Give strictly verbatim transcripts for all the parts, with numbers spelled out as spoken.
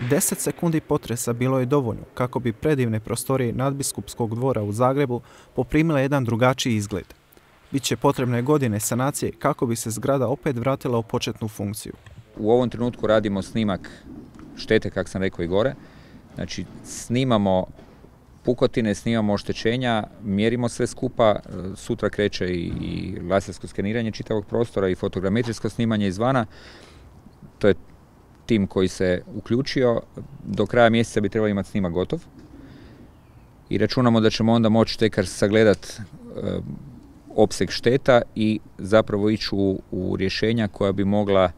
Deset sekundi potresa bilo je dovoljno kako bi predivne prostorije nadbiskupskog dvora u Zagrebu poprimile jedan drugačiji izgled. Biće potrebne godine sanacije kako bi se zgrada opet vratila u početnu funkciju. U ovom trenutku radimo snimak štete, kako sam rekao i gore. Znači, snimamo pukotine, snimamo oštećenja, mjerimo sve skupa. Sutra kreće i, i lasersko skeniranje čitavog prostora i fotogrametrijsko snimanje izvana. To je tim koji se uključio. Do kraja mjeseca bi trebali imati snimak gotov. I računamo da ćemo onda moći tekar sagledati e, opseg šteta i zapravo ići u, u rješenja koja bi mogla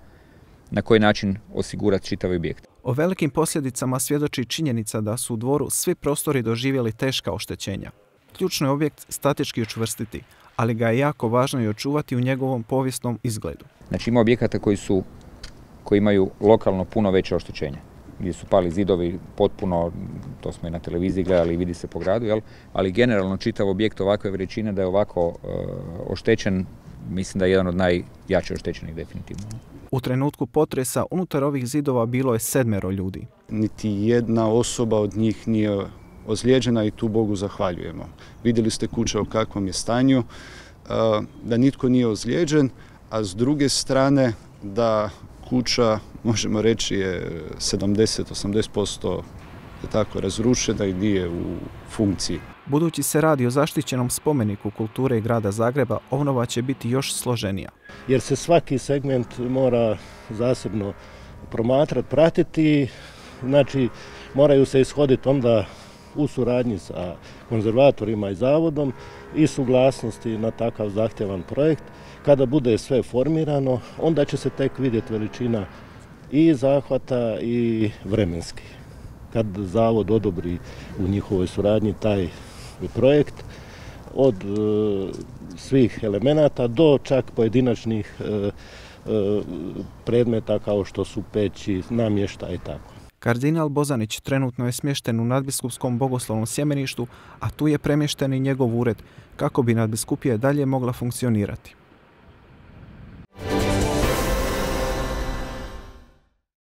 na koji način osigurati čitav objekt. O velikim posljedicama svjedoči činjenica da su u dvoru svi prostori doživjeli teška oštećenja. Ključno je objekt statički učvrstiti, ali ga je jako važno i očuvati u njegovom povijesnom izgledu. Znači ima objekata koji su koji imaju lokalno puno veće oštećenja, gdje su pali zidovi potpuno, to smo i na televiziji gledali i vidi se po gradu, jel? Ali generalno čitav objekt ovakve veličine da je ovako uh, oštećen, mislim da je jedan od najjače oštećenih definitivno. U trenutku potresa unutar ovih zidova bilo je sedmero ljudi. Niti jedna osoba od njih nije ozlijeđena i tu Bogu zahvaljujemo. Vidjeli ste kuća u kakvom je stanju, da nitko nije ozlijeđen, a s druge strane da kuća, možemo reći, je sedamdeset do osamdeset posto je tako razrušena i nije u funkciji. Budući se radi o zaštićenom spomeniku kulture i grada Zagreba, obnova će biti još složenija. Jer se svaki segment mora zasebno promatrati, pratiti, znači moraju se ishoditi onda u suradnji sa konzervatorima i zavodom i suglasnosti na takav zahtjevan projekt. Kada bude sve formirano, onda će se tek vidjeti veličina i zahvata i vremenski. Kad zavod odobri u njihovoj suradnji taj projekt, od e, svih elemenata do čak pojedinačnih e, e, predmeta kao što su peći, namještaj i tako. Kardinal Bozanić trenutno je smješten u nadbiskupskom bogoslovnom sjemeništu, a tu je premješten i njegov ured kako bi nadbiskupija dalje mogla funkcionirati.